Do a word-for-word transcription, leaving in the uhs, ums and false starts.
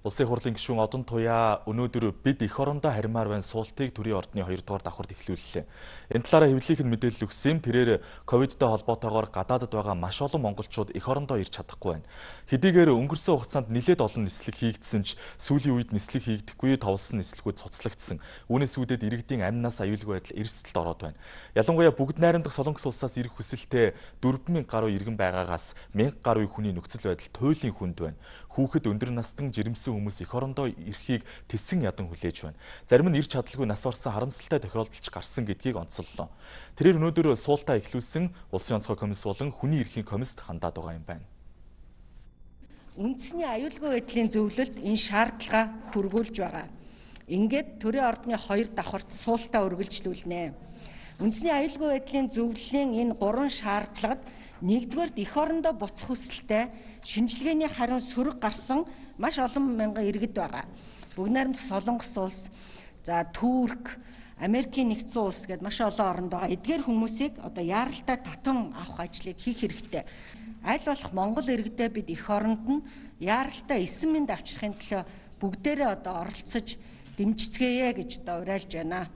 Улсын хурлын гишүүн Одон Туяа өнөөдөр бид эх орондоо харьмаар байна суултыг төрийн ордны хоёрдугаар давхарт эхлүүллээ. Энэ талаараа хэвлэлийнх нь мэдээлэл өгсөн. Тэрээр ковидтой холбоотойгоор гадаадд байгаа маш олон монголчууд эх орондоо ирж чадахгүй байна. Хэдийгээр өнгөрсөн хугацаанд нэлээд олон нислэг хийгдсэн ч сүүлийн үед нислэг хийгдэхгүй товсон нислэгүүд цуцлагдсан. Үүнээс үүдээд иргэдийн амнаас аюулгүй байдал эрсдэлд ороод байна. Ялангуяа бүгд найрамдах Солонгос улсаас ирэх хүсэлтэй дөрвөн мянган гаруй иргэн байгаагаас мянган гаруй хүний нөхцөл байдал туйлын хүнд байна. Хүүхэд өндөр настан жирэмсэн хүмүүс эх орондоо ирэхийг тэссэн ядан хүлээж байна. Зарим нь ирч чадалгүй нас орсон харамсалтай тохиолдолч гарсан гэдгийг онцоллоо. Тэрээр өнөөдөр суултаа эхлүүлсэн Улсын онцгой комисс болон хүний эрхийн комиссд хандаад байгаа юм байна. Үндэсний аюулгүй байдлын зөвлөлд энэ шаардлага хүргүүлж байгаа. Ингээд төрийн ордны хоёр давхарт суултаа үргэлжлүүлнэ. Үндэсний аюулгүй байдлын зөвлөлийн энэ гурван шаардлагад нэгдүгээр эх орондоо буцах хүсэлтэй шинжилгээний хариун сөрөг гарсан маш олон мянган иргэд байгаа. Бүгд найрамдах Солонгос улс, за Турк, Америкийн нэгдсэн улс гэдээ маш олон оронд байгаа. Эдгээр хүмүүсийг одоо яаралтай татан авах ажлыг хийх хэрэгтэй. Аль болох Монгол иргэдээ бид эх оронд нь яаралтай эссэн мэнд авчрахын төлөө бүгдээрээ одоо оролцож дэмжицгээе гэж одоо уриалж байна.